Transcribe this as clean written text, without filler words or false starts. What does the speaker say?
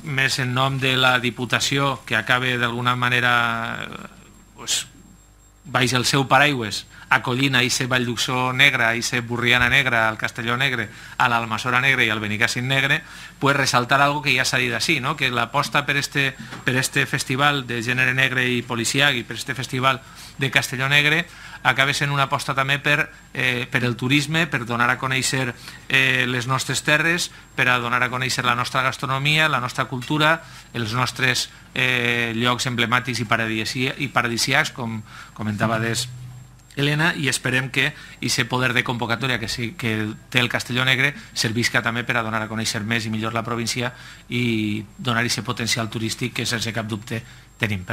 més en nom de la Diputació, que acabe d'alguna manera baix el seu paraigües acollint a aquest Vall d'Uxó negre, a aquest Burriana negra, al Castelló negre, a l'Almassora negre i al Benicàssim negre, pues resaltar algo que ja s'ha dit així, no? Que l'aposta per este festival de gènere negre i policiac i per este festival de Castelló negre acaba sent una aposta també per el turisme, per donar a conèixer les nostres terres, per a donar a conèixer la nostra gastronomia, la nostra cultura, els nostres llocs emblemàtics i paradisíacs, com comentava Helena, i esperem que aquest poder de convocatòria que té el Castelló Negre servisca també per a donar a conèixer més i millor la província i donar aquest potencial turístic que sense cap dubte tenim.